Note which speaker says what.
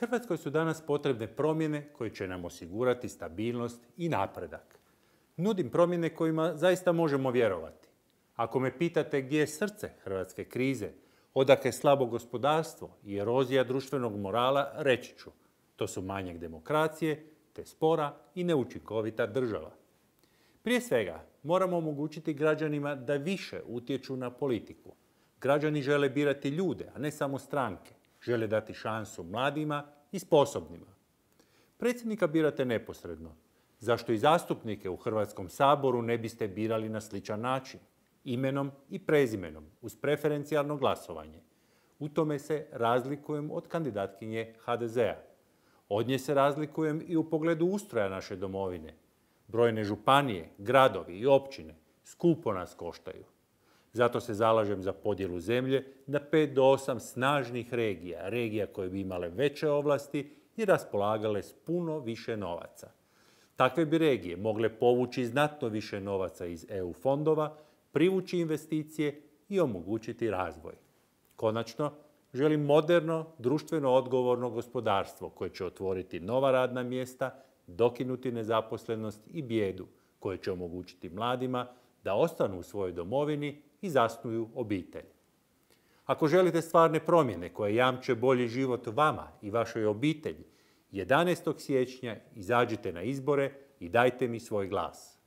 Speaker 1: Hrvatskoj su danas potrebne promjene koje će nam osigurati stabilnost i napredak. Nudim promjene kojima zaista možemo vjerovati. Ako me pitate gdje je srce hrvatske krize, odakle slabo gospodarstvo i erozija društvenog morala, reći ću. To su manjak demokracije, te spora i neučinkovita država. Prije svega, moramo omogućiti građanima da više utječu na politiku. Građani žele birati ljude, a ne samo stranke. Žele dati šansu mladima i sposobnima. Predsjednika birate neposredno. Zašto i zastupnike u Hrvatskom saboru ne biste birali na sličan način? Imenom i prezimenom, uz preferencijalno glasovanje. U tome se razlikujem od kandidatkinje HDZ-a. Od nje se razlikujem i u pogledu ustroja naše domovine. Brojne županije, gradovi i općine skupo nas koštaju. Zato se zalažem za podjelu zemlje na 5 do 8 snažnih regija, regija koje bi imale veće ovlasti i raspolagale s puno više novaca. Takve bi regije mogle povući znatno više novaca iz EU fondova, privući investicije i omogućiti razvoj. Konačno, želim moderno, društveno odgovorno gospodarstvo koje će otvoriti nova radna mjesta, dokinuti nezaposlenost i bijedu, koje će omogućiti mladima da ostanu u svojoj domovini i zasnuju obitelj. Ako želite stvarne promjene koje jamče bolji život vama i vašoj obitelji, 11. siječnja izađite na izbore i dajte mi svoj glas.